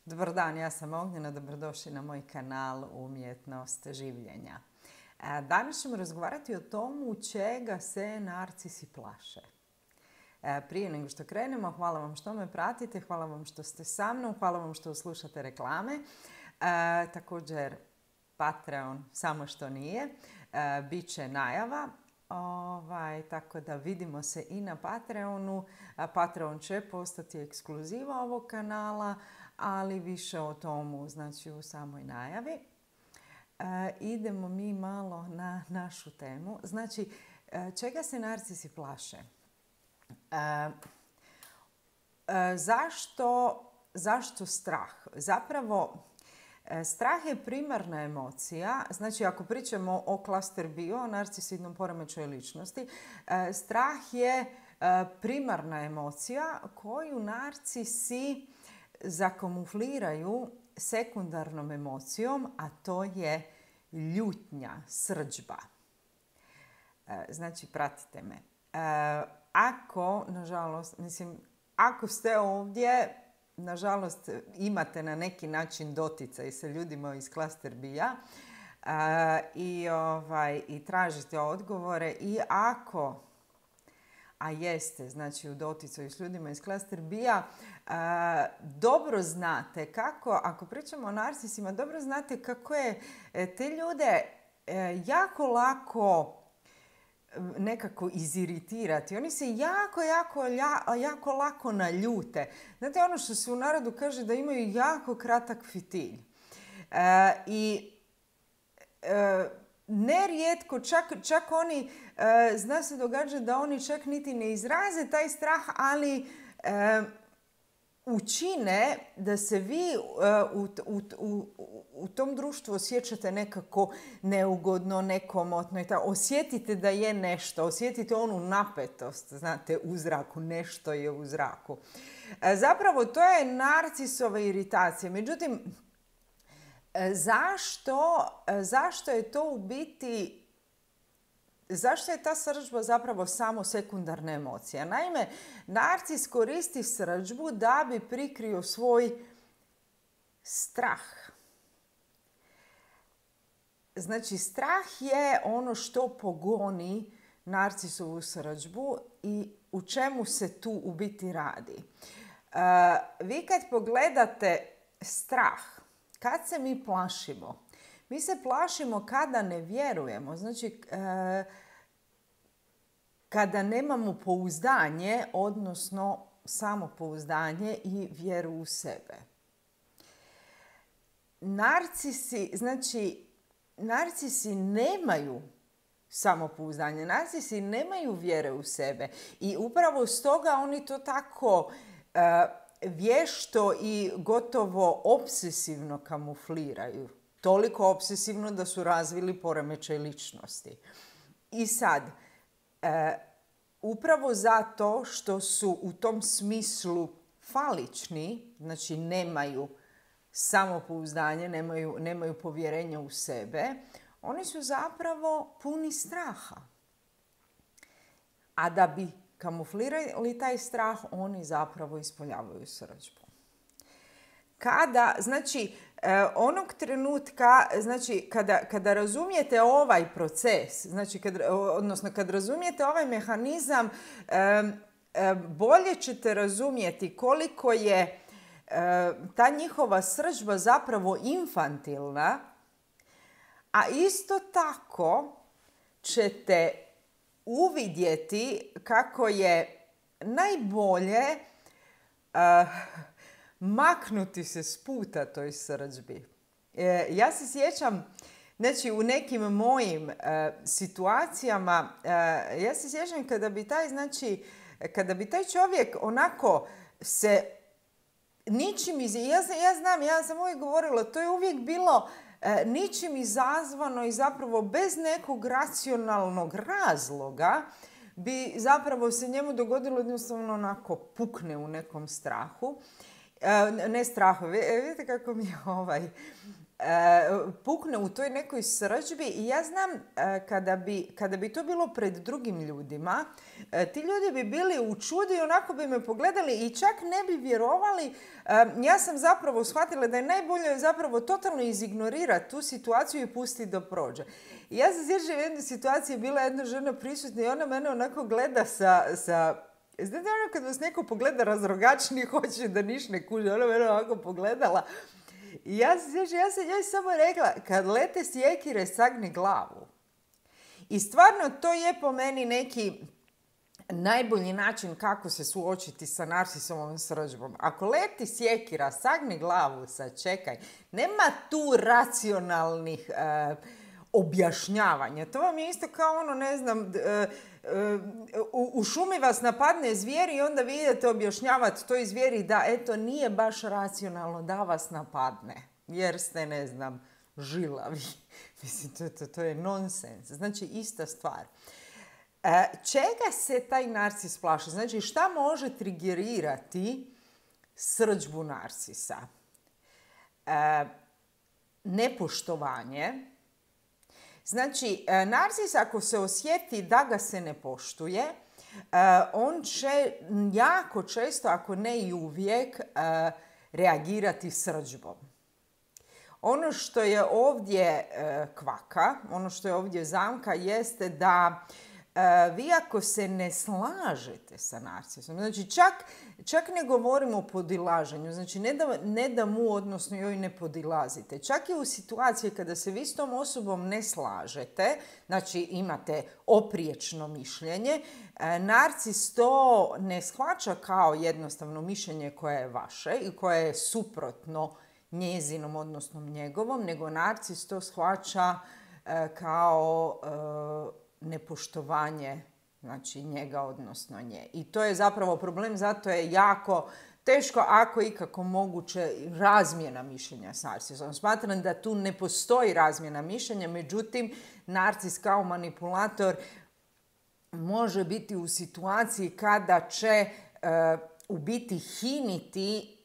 Dobar dan, ja sam Ognjena, dobrodošli na moj kanal Umjetnost življenja. Danas ćemo razgovarati o tomu čega se narcisi plaše. Prije nego što krenemo, hvala vam što me pratite, hvala vam što ste sa mnom, hvala vam što slušate reklame. Također Patreon, samo što nije, bit će najava. Tako da vidimo se i na Patreonu. Patreon će postati ekskluziva ovog kanala, ali više o tomu znači u samoj najavi. Idemo mi malo na našu temu. Znači, čega se narcisi plaše? Zašto strah? Zapravo, strah je primarna emocija. Znači, ako pričamo o klaster bio, o narcisidnom poremećaju ličnosti, strah je primarna emocija koju narcisi zakamufliraju sekundarnom emocijom, a to je ljutnja, srdžba. Znači, pratite me. Ako ste ovdje, nažalost, imate na neki način doticaj sa ljudima iz klaster bija i tražite odgovore i ako, a jeste, znači u doticaju s ljudima iz klaster bija, dobro znate kako, ako pričamo o narcisima, dobro znate kako je te ljude jako lako nekako iziritirati. Oni se jako lako naljute. Znate ono što se u narodu kaže da imaju jako kratak fitilj. Nerijetko, čak oni, zna se događa da oni čak niti ne izraze taj strah, ali učine da se vi u tom društvu osjećate nekako neugodno, nekomotno i tako. Osjetite da je nešto, osjetite onu napetost, znate, u zraku, nešto je u zraku. Zapravo, to je narcisova iritacija. Međutim, zašto je to u biti, zašto je ta srdžba zapravo samo sekundarna emocija? Naime, narcis koristi srdžbu da bi prikrio svoj strah. Znači, strah je ono što pogoni narcisovu srdžbu i u čemu se tu u biti radi. Vi kad pogledate strah, kad se mi plašimo, mi se plašimo kada ne vjerujemo, znači kada nemamo pouzdanje, odnosno samopouzdanje i vjeru u sebe. Narcisi nemaju samopouzdanje, narcisi nemaju vjere u sebe i upravo stoga oni to tako vješto i gotovo obsesivno kamufliraju. Toliko obsesivno da su razvili poremećaj ličnosti. I sad, upravo zato što su u tom smislu falični, znači nemaju samopouzdanje, nemaju povjerenja u sebe, oni su zapravo puni straha. A da bi kamuflirali taj strah, oni zapravo ispoljavaju srdžbu. Onog trenutka, kada razumijete ovaj proces, kad razumijete ovaj mehanizam, bolje ćete razumjeti koliko je ta njihova srdžba zapravo infantilna, a isto tako ćete uvidjeti kako je najbolje maknuti se s puta toj srdžbi. Ja se sjećam, znači u nekim mojim situacijama, ja se sjećam kada bi taj čovjek onako se ničim ja sam uvijek govorila, to je uvijek bilo ničim izazvano i zapravo bez nekog racionalnog razloga bi zapravo se njemu dogodilo jednostavno onako pukne u nekom strahu. Ne strahu, vidite kako mi je pukne u toj nekoj srdžbi i ja znam kada bi to bilo pred drugim ljudima, ti ljudi bi bili u čudu i onako bi me pogledali i čak ne bi vjerovali. Ja sam zapravo shvatila da je najbolje zapravo totalno izignorirati tu situaciju i pustiti da prođe. I ja se sjećam jedne situacije, bila jedna žena prisutna i ona mene onako gleda sa znate ono kad vas neko pogleda razrogačni, hoće da niš ne kuže, ona mene ovako pogledala. I ja sam njoj samo rekla, kad lete sjekire, sagni glavu. I stvarno to je po meni neki najbolji način kako se suočiti sa narcisovom srdžbom. Ako leti sjekira, sagni glavu, sačekaj. Nema tu racionalnih objašnjavanja. To vam je isto kao ono, ne znam, u šumi vas napadne zvijer i onda vi idete objašnjavati toj zvijeri da eto nije baš racionalno da vas napadne. Jer ste, ne znam, žilavi. Mislim, to je nonsens. Znači, ista stvar. Čega se taj narcis plaši? Znači, šta može trigerirati srdžbu narcisa? Nepoštovanje. Znači, narcis ako se osjeti da ga se ne poštuje, on će jako često, ako ne i uvijek, reagirati srdžbom. Ono što je ovdje kvaka, ono što je ovdje zamka, jeste da vi ako se ne slažete sa narcisom, znači čak ne govorimo o podilaženju, znači ne da mu, odnosno joj ne podilazite. Čak i u situaciji kada se vi s tom osobom ne slažete, znači imate opriječno mišljenje, narcis to ne shvaća kao jednostavno mišljenje koje je vaše i koje je suprotno njezinom, odnosno njegovom, nego narcis to shvaća kao nepoštovanje, znači njega, odnosno nje. I to je zapravo problem, zato je jako teško, ako ikako moguće, razmjena mišljenja s narcisom. Smatram da tu ne postoji razmjena mišljenja, međutim, narcis kao manipulator može biti u situaciji kada će u biti hiniti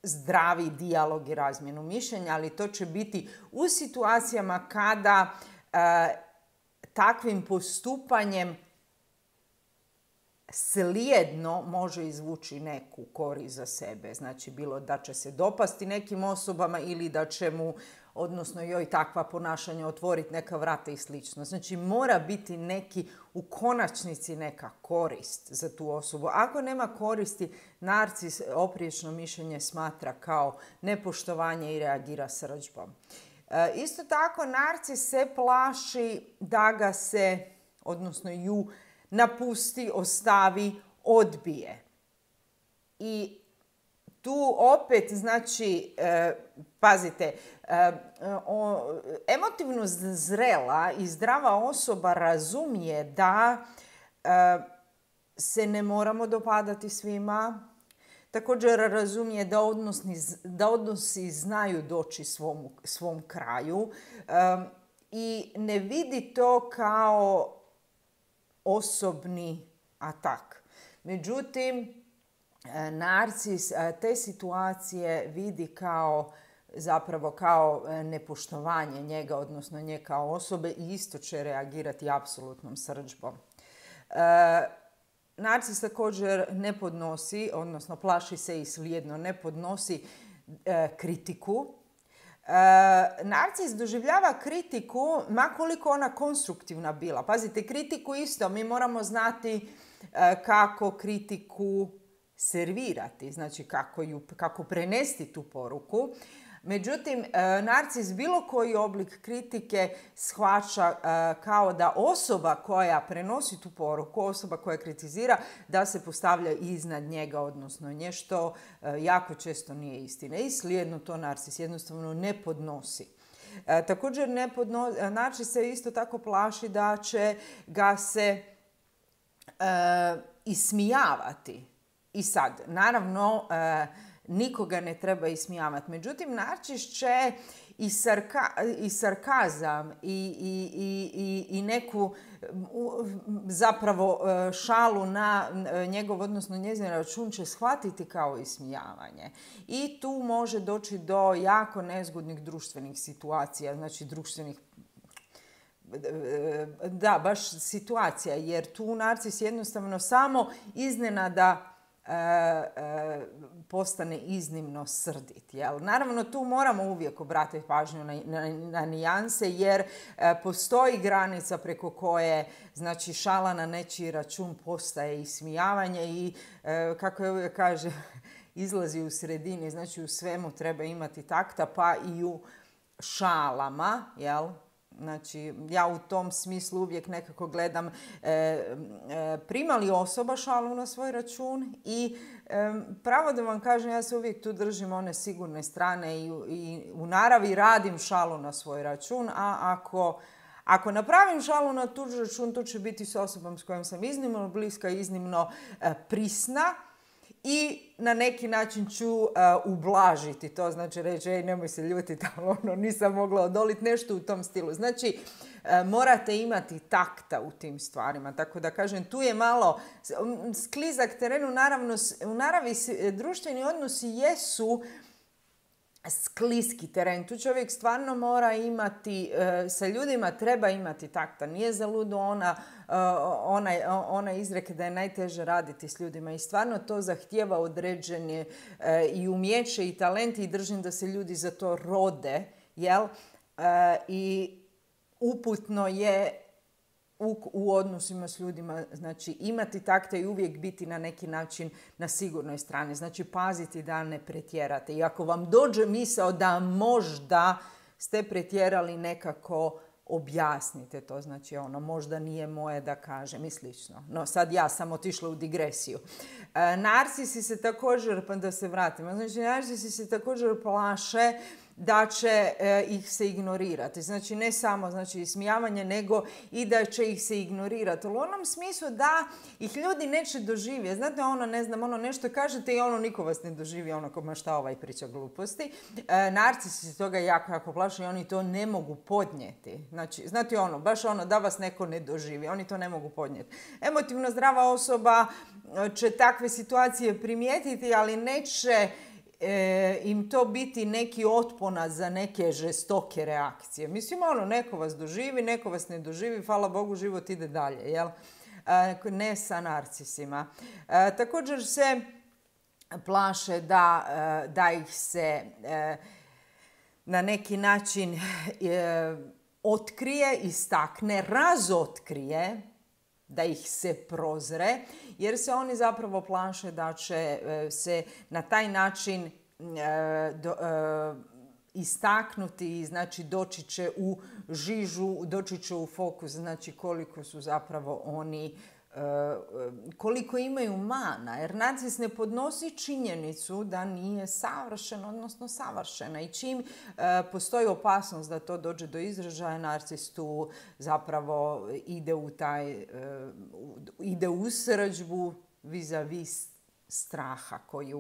zdravi dijalog i razmjenu mišljenja, ali to će biti u situacijama kada takvim postupanjem slijedno može izvući neku korist za sebe. Znači, bilo da će se dopasti nekim osobama ili da će mu, odnosno joj, takva ponašanja otvoriti neka vrata i slično. Znači, mora biti u konačnici neka korist za tu osobu. Ako nema koristi, narcis opriječno mišljenje smatra kao nepoštovanje i reagira srdžbom. Isto tako, narcis se plaši da ga se, odnosno ju, napusti, ostavi, odbije. I tu opet, znači, pazite, emotivno zrela i zdrava osoba razumije da se ne moramo dopadati svima. Također razumije da odnosi znaju doći svom kraju i ne vidi to kao osobni atak. Međutim, narcis te situacije vidi zapravo kao nepoštovanje njega, odnosno nje kao osobe, i isto će reagirati apsolutnom srdžbom. Narcis također ne podnosi, odnosno plaši se i slijedno ne podnosi kritiku. Narcis doživljava kritiku, ma koliko ona konstruktivna bila. Pazite, kritiku isto, mi moramo znati kako kritiku servirati, znači kako prenesti tu poruku. Međutim, narcis bilo koji oblik kritike shvaća kao da osoba koja prenosi tu poruku, osoba koja kritizira, da se postavlja iznad njega, odnosno nje, što jako često nije istina. I slijedno to narcis jednostavno ne podnosi. Također narcis se isto tako plaši da će ga se ismijavati. I sad, naravno, nikoga ne treba ismijavati. Međutim, narcis će i sarkazam i neku zapravo šalu na njegov, odnosno njezin račun će shvatiti kao ismijavanje. I tu može doći do jako nezgodnih društvenih situacija, znači društvenih baš situacija, jer tu narcis jednostavno samo iznenada postane iznimno srdit. Jel? Naravno, tu moramo uvijek obratiti pažnju na nijanse, jer postoji granica preko koje, znači, šala na nečiji račun postaje ismijavanje i, kako je uvijek kaže, izlazi u sredini. Znači, u svemu treba imati takta, pa i u šalama, jel? Znači, ja u tom smislu uvijek nekako gledam prima li osoba šalu na svoj račun i pravo da vam kažem, ja se uvijek tu držim one sigurne strane i u naravi radim šalu na svoj račun, a ako napravim šalu na tuđi račun, to će biti s osobom s kojom sam iznimno bliska, iznimno prisna. I na neki način ću ublažiti to, znači reći, nemoj se ljutiti, ali nisam mogla odoliti, nešto u tom stilu. Znači, morate imati takta u tim stvarima. Tako da kažem, tu je malo sklizak teren. U naravi društveni odnosi jesu skliski teren. Tu čovjek stvarno mora imati, sa ljudima treba imati takta. Nije zaludo ona izreka da je najteže raditi s ljudima i stvarno to zahtijeva određene i umjeće i talenti i držim da se ljudi za to rode, jel? I uputno je u odnosima s ljudima, znači imati takta i uvijek biti na neki način na sigurnoj strani. Znači paziti da ne pretjerate. I ako vam dođe misao da možda ste pretjerali, nekako objasnite to. Znači možda nije moje da kažem i slično. No sad ja sam otišla u digresiju. Narcisi se također, pa da se vratimo, znači narcisi se također plaše da će ih se ignorirati. Znači ne samo ismijavanje, nego i da će ih se ignorirati. U onom smislu da ih ljudi neće doživjeti. Znate, nešto kažete i niko vas ne doživi, ko šta ovaj priča gluposti. Narcisi se toga jako plaše i oni to ne mogu podnijeti. Znači, znate baš da vas neko ne doživi. Oni to ne mogu podnijeti. Emotivno zdrava osoba će takve situacije primijetiti, ali neće im to biti neki otponac za neke žestoke reakcije. Mislim, neko vas doživi, neko vas ne doživi, hvala Bogu, život ide dalje, jel? Ne sa narcisima. Također se plaše da ih se na neki način otkrije, istakne, razotkrije, da ih se prozre, jer se oni zapravo plaše da će se na taj način istaknuti i znači doći će u žižu, doći će u fokus, znači koliko su zapravo oni, koliko imaju mana, jer narcis ne podnosi činjenicu da nije savršen, odnosno savršena. I čim postoji opasnost da to dođe do izražaja, narcis tu zapravo ide u srđbu vis-a-vis straha koji je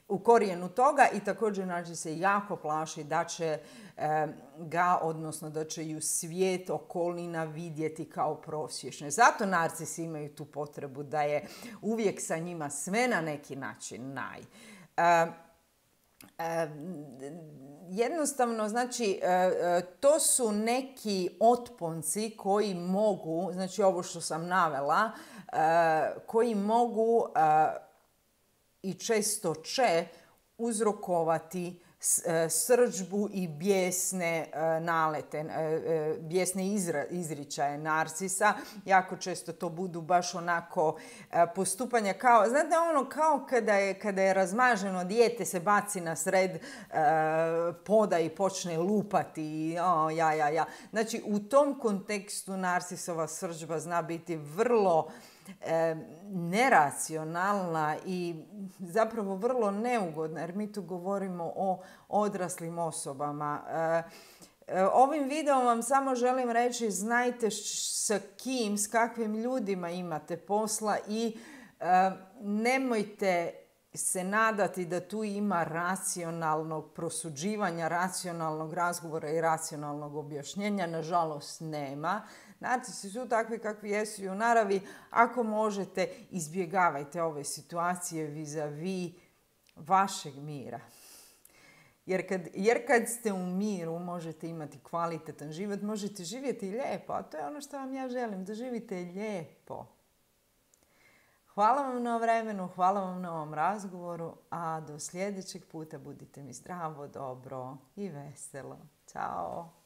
u korijenu toga i također narcis se jako plaši da će odnosno da će ju svijet, okolina vidjeti kao prosječne. Zato narcisi imaju tu potrebu da je uvijek sa njima sve na neki način jednostavno, znači, to su neki otponci koji mogu, znači ovo što sam navela, koji mogu i često će uzrokovati srdžbu i bijesne nalete, bijesne izričaje narcisa. Jako često to budu baš onako postupanja kao, znate kao kada je razmaženo dijete se baci na sred poda i počne lupati. Znači u tom kontekstu narcisova srdžba zna biti vrlo neracionalna i zapravo vrlo neugodna, jer mi tu govorimo o odraslim osobama. Ovim videom vam samo želim reći, znajte s kakvim ljudima imate posla i nemojte se nadati da tu ima racionalnog prosuđivanja, racionalnog razgovora i racionalnog objašnjenja. Nažalost, nema. Narcisi su takvi kakvi jesu i u naravi. Ako možete, izbjegavajte ove situacije vis-a-vis vašeg mira. Jer kad ste u miru, možete imati kvalitetan život, možete živjeti lijepo. A to je ono što vam ja želim, da živite lijepo. Hvala vam na vremenu, hvala vam na ovom razgovoru, a do sljedećeg puta budite mi zdravo, dobro i veselo. Ćao!